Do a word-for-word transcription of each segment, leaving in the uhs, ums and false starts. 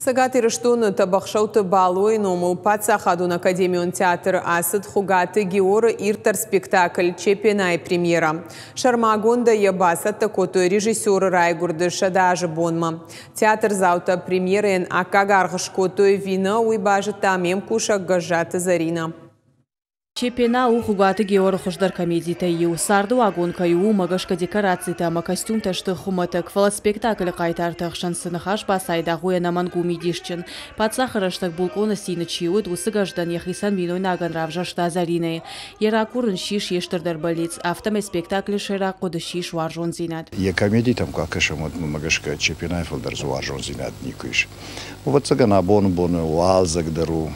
Цӕгат Ирыстоны Тӕбӕхсӕуты Балойы номыл паддзахадон академион театры ацыд Хуыгаты Георы ирддӕр спектакль «Чепена»-йы премьерӕ. Сӕрмагондӕй йӕ бацӕттӕ кодтой режиссеры райгуырды сӕдӕ азы бонмӕ. Театрдзаутӕ премьерӕйӕн аккаг аргъ скодтой ӕви нӕ, уый базыдта ме мкусӕг Гӕззаты Зӕринӕ. Чепена у Хуыгаты Георы хуыздӕр комедитӕй иу. Цардыуагон кӕй у, уымӕ гӕсгӕ декорацитӕ ӕмӕ костюмтӕ сты хуымӕтӕг, фӕлӕ спектаклы хъайтарты ӕхсӕн цы ныхас бацайдагъ, уый ӕнӕмӕнг у мидисджын. Паддзахы рӕстӕг булкъоны цины чи уыд, уыцы Гӕздӕн йӕхицӕн бинойнагӕн равзӕрста Зӕринӕйы. Йӕ ракурын ссис йе стырдӕр бӕллиц. Афтӕмӕй спектаклы сӕйраг хъуыды ссис уарзондзинад. Йӕ комедитӕм куы акӕсӕм, уӕд мӕм гӕсгӕ Чепенайы фылдӕр дзы уарзондзинад никуы ис. Ӕвӕццӕгӕн, абоны боны уалдзӕг дӕр у,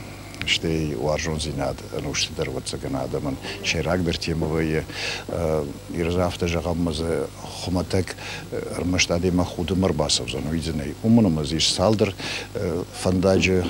стӕй уарзондзинад ӕнусты дӕр, ӕвӕццӕгӕн, адӕмӕн сӕйрагдӕр темӕ вӕййы. Иры афтӕ зӕгъӕм, ӕмӕ дзы хуымӕтӕг ӕрмӕст адӕймаг худынмӕ ӕрбацӕудзӕн, уый дзы нӕй. Уымӕн ӕмӕ дзы ис цалдӕр фӕндаджы,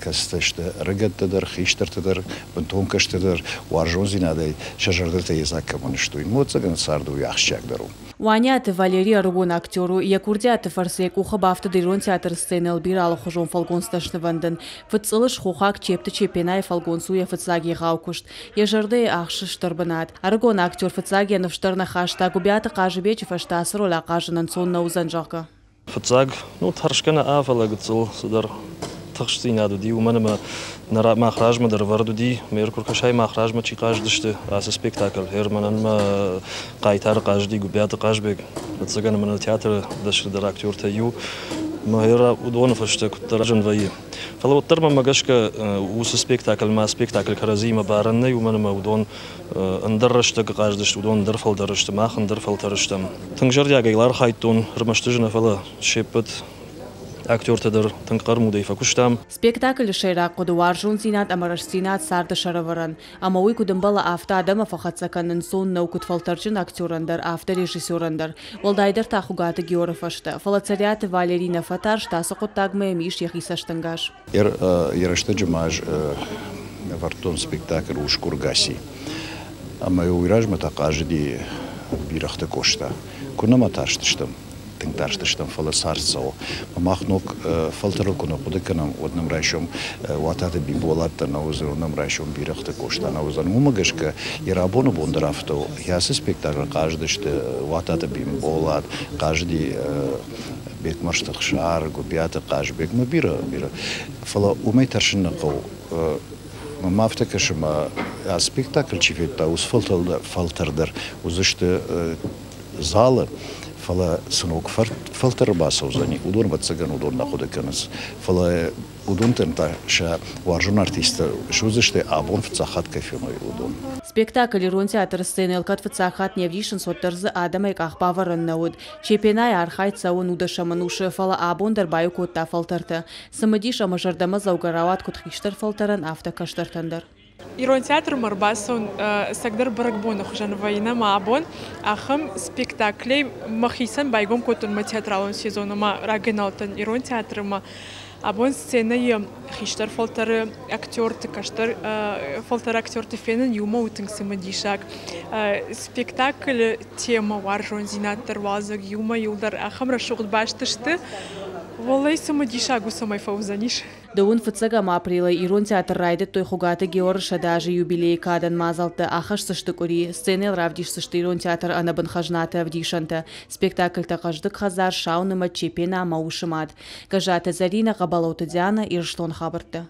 кӕцытӕ сты ӕрыгӕттӕ дӕр, хистӕртӕ дӕр, бынтон кӕстӕр дӕр, уарзондзинадӕй сӕ зӕрдӕтӕ йедзаг кӕмӕн сты, уый. Ӕвӕццӕгӕн, царды уый ахсджиагдӕр у. Уаниаты Валерий ӕрыгон актер у. Йӕ курдиаты фӕрцы йӕ къухы бафтыд ирон театры сценӕйыл бирӕ алыхуызон фӕлгонцтӕ снывӕндын. Фыдцъылыс хохаг Чепты Чепенайы фӕлгонц у йӕ фыццаг егъау куыст. Йӕ зӕрдӕйы ахсы стыр бынат. Ӕрыгон актер фыццаг йӕ ныфс дӕр нӕ хаста, Гуыбиаты Хъазыбеджы фӕстӕ ацы роль ахъазын ӕнцон нӕ уыдзӕн, зӕгъгӕ. Фыццаг, ну, тӕрсгӕ нӕ, фӕлӕ гыццыл цыдӕр тыхстдзинад уыди, уымӕн ӕмӕ мах размӕ дӕр ӕвӕрд уыди, ме ркуыркӕсӕй мах размӕ чи хъазыдысты ацы спектакль. Мӕнӕн мӕ хъайтары хъазыди Гуыбиаты Хъазбег. Ӕвӕццӕгӕн, мӕнӕ театры дӕсныдӕр актертӕй иу. Мӕ уыдоны фӕстӕ куыддӕр зын вӕййы. Фӕлӕ уӕддӕр мӕм гӕсгӕ уыцы спектакль мӕ спектакль кӕрӕдзиимӕ барӕн нӕй, уымӕн ӕмӕ уыдон ӕндӕр рӕстӕг хъазыдысты, уыдон ӕндӕр фӕлтӕр сты, мах ӕндӕр фӕлтӕр стӕм. Тынг зӕрдиагӕй архайдтон, ӕрмӕст ӕз нӕ, фӕлӕ се ппӕт актертӕ дӕр тынг хъӕрмудӕй фӕкуыстам. Спектаклы сӕйраг хъуыды уарзондзинад ӕмӕ рӕстдзинад царды сӕрӕвӕрӕн. Ӕмӕ уый куыд ӕмбӕлы, афтӕ адӕмы фӕхӕццӕ кӕнын ӕнцон нӕу куыд фӕлтӕрджын актерӕн дӕр, афтӕ режиссерӕн дӕр. Уӕлдайдӕр та Хуыгаты Георы фӕстӕ. Фӕлӕ Цӕриаты Валерий нӕ фӕтарст, ацы хъуыддагмӕ йӕм ис йӕхи цӕстӕнгас. Йӕ рӕстӕджы ма ӕз ӕвӕрдтон спектакль «Усгур Гаси». Ӕмӕ уый размӕ та хъазыди Бирӕгъты Къоста. Куы нӕ ма тарстыстӕм, тынг тарстыстӕм, фӕлӕ цард цӕуы. Мах ног фӕлтӕрыл куы нӕ хъуыды кӕнӕм, уӕд нӕм райсом Уататы Бимболат дӕр нӕ уыдзӕн, уӕд нӕм райсом Бирӕгъты Къоста нӕ уыдзӕн. Уымӕ гӕсгӕ йӕ рабоны бон дӕр афтӕ у. Ацы спектаклы хъазыдысты Уататы Бимболат, хъазыди Бекмӕрзты Ӕхсар, Гуыбиаты Хъазбег, ма бирӕ, бирӕ. Фӕлӕ уымӕй тӕрсын нӕ хъӕуы. Мӕм афтӕ кӕсы, ӕмӕ ацы спектакль чи федта, уыцы фӕлтӕр дӕр уыдзысты залы, фӕлӕ цы ног фӕлтӕр бацӕудзӕни, уыдон, ӕвӕццӕгӕн, уыдон нӕ хъуыды кӕнынц. Фӕлӕ уыдонтӕн та сӕ уарзон артисттӕ суыдзысты, абон фыццаг хатт кӕй феной, уыдон. Спектакль ирон театры сценӕйыл кӕд фыццаг хатт не вдисынц, уӕддӕр дзы адӕмӕй къахбавӕрӕн нӕ уыд. Чепенайы архайд цӕуы нудӕсӕм ӕнусы, фӕлӕ абон дӕр баиу кодта фӕлтӕртӕ. Цымыдис ӕмӕ зӕрдӕмӕдзӕугӕ рауад куыд хистӕр фӕлтӕрӕн, афтӕ кӕстӕртӕн дӕр. Ирон театрмӕ ӕрбацӕуын ӕцӕгдӕр бӕрӕгбоны хуызӕн вӕййы ӕмӕ абон ахӕм спектаклӕй мӕхицӕн байгом кодтон мӕ театралон сезон ӕмӕ рагӕй нал уыдтӕн ирон театры ӕмӕ абон сценӕйы хистӕр фӕлтӕры актерты, кӕстӕр фӕлтӕры актерты фенын иумӕ у тынг цымыдисаг. Спектаклы темӕ уарзондзинад дӕр, уалдзӕг иумӕ иуылдӕр ахӕм рӕсугъд баст сты. Уӕллӕй цымыдисаг у, цӕмӕй фӕуыдзӕнис. Дыууын фыццӕгӕм апрелы ирон театр райдыдтой Хуыгаты Георы сӕдӕ азы юбилейы кадӕн мадзӕлттӕ, ахӕсдзысты къуыри. Сценӕйыл равдисдзысты ирон театры ӕнӕбын хӕзнаты ӕвдисӕнтӕ. Спектакльтӕ «Хъӕздыг хӕдзар», «Сау нымӕт», «Чепена» ӕмӕ «Усы мад». Гӕззаты Зӕринӕ, Хъӕбӕлоты Диана, Ирыстон хабӕрттӕ.